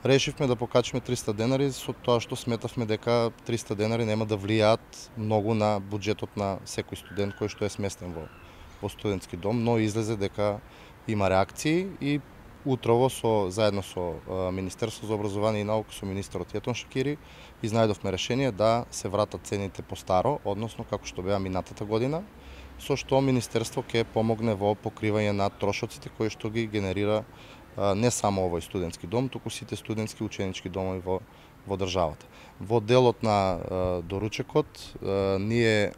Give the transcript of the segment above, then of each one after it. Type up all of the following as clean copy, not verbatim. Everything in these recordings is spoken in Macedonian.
Решивме да покачиме 300 денари со тоа што сметавме дека 300 денари нема да влијаат многу на буџетот на секој студент кој што е сместен во студентски дом, но излезе дека има реакции и утрово заедно со Министерство за образование и наука, со министерот Јетон Шакири, изнајдовме решение да се вратат цените по старо, односно како што беа минатата година, со што Министерство ќе помогне во покривање на трошоците кои што ги генерира не само овој студентски дом, туку сите студентски ученички домови во државата. Во делот на доручекот, ние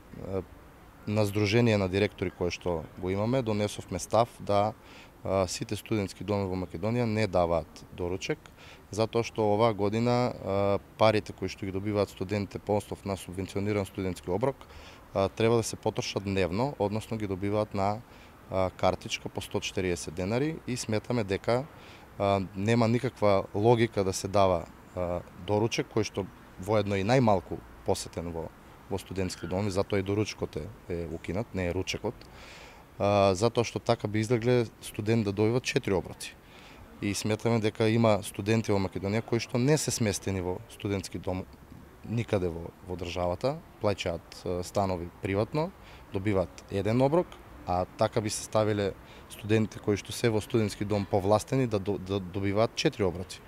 на Сдружение на директори кое што го имаме, донесовме став да сите студентски доми во Македонија не даваат доручек, затоа што оваа година парите кои што ги добиваат студентите по основ на субвенциониран студентски оброк треба да се потрошат дневно, односно ги добиваат на картичка по 140 денари и сметаме дека нема никаква логика да се дава доручек кој што воедно и најмалку посетен во студентски доми, затоа и доручкот е укинат, не е ручекот, затоа што така би излегле студент да добива 4 оброци. И сметаме дека има студенти во Македонија кои што не се сместени во студентски дом никаде во државата, плаќаат станови приватно, добиваат еден оброк, а така би се ставиле студентите кои што се во студентски дом повластени да добиваат 4 оброци.